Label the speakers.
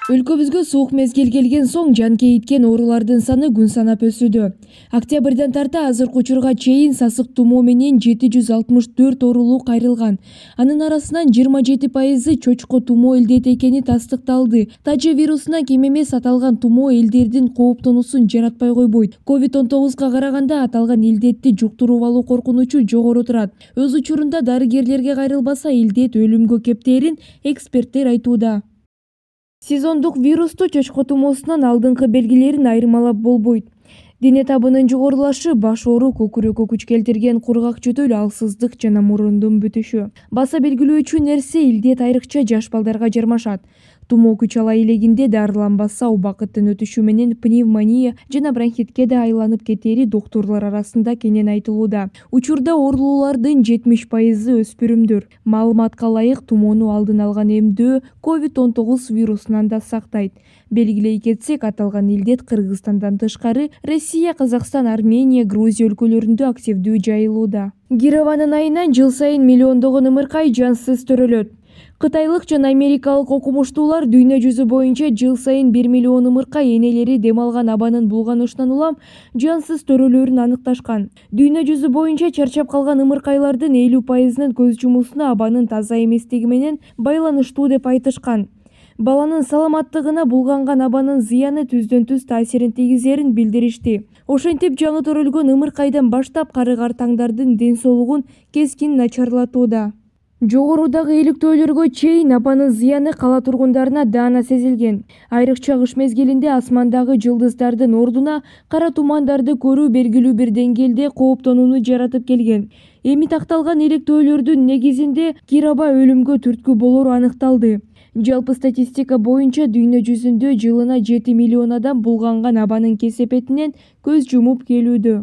Speaker 1: Өлкөбүзгө суук мезгил келген соң жан кейиткен оорулардын саны күн санап өсүүдө. Октябрдан тарта азыркы учурга чейин сасык тумоо менен 764 оорулуу кайрылган. Анын арасынан 27% чочко тумоо илдети экени тастыкталды. Тажы вирусуна кем эмес аталган тумоо элдердин кооптонуусун жаратпай койбойт. COVID-19 караганда аталган илдетти жуктуруп алуу коркунучу жогору турат. Өз учурунда дарыгерлерге кайрылбаса илдет өлүмгө кептерин эксперттер айтууда. Сезондук вирусту чочко тумоосунан алдыңкы белгилерин айырмалап болбойт. Дене табынын жогорулашы, баш оору, көкүрөккө күч келтирген кургак жөтөл, алсыздык жана мурундун бүтүшү. Баса белгилөөчү нерсе илдет айрыкча жаш балдарга жармашат. Тумоо күч ала элегинде дарыланбаса убакыттын өтүшү менен пневмония жана бронхитке да айланып кетери доктурлар арасында кенен айтылууда. Учурда оорулуулардын 70% өспүрүмдөр. Маалыматка ылайык тумоону алдын алган эмдөө COVID-19 вирусунан да сактайт. Белгилей кетсек, аталган илдет Кыргызстандан тышкары Россия, Казакстан, Армения, Грузия өлкөлөрүндө активдүү жайылууда. Кированын айынан жыл сайын миллиондогон ымыркай жансыз төрөлөт. Кытайлык жана америкалык окумуштуулар дүйнө жүзү боюнча жыл сайын 1 миллион ымыркай энелери дем алган абанын булганышынан улам жансыз төрөлөрүн аныкташкан. Дүйнө жүзү боюнча чарчап калган ымыркайлардын 50%-нын көз жумусуна абанын таза эместиги менен байланыштуу деп айтышкан. Баланын саламаттыгына булганган абанын зыяны түздөн-түз таасирин тийгизерин билдиришти. Ошентип жаңы төрөлгөн ымыркайдан баштап кары-картаңдардын ден соолугун кескин начарлатууда. Жогорудагы иликтөөлөргө чейин абанын зыяны кала тургундарына даана сезилген. Айрыкча кыш мезгилинде асмандагы жылдыздардын ордуна кара тумандарды көрүү белгилүү бир деңгээлде кооптонууну жаратып келген. Эми такталган иликтөөлөрдүн негизинде кираба өлүмгө түрткү болору аныкталды. Жалпы статистика боюнча дүйнө жүзүндө жылына 7 миллион адам булганган абанын кесепетинен көз жумуп келүүдө.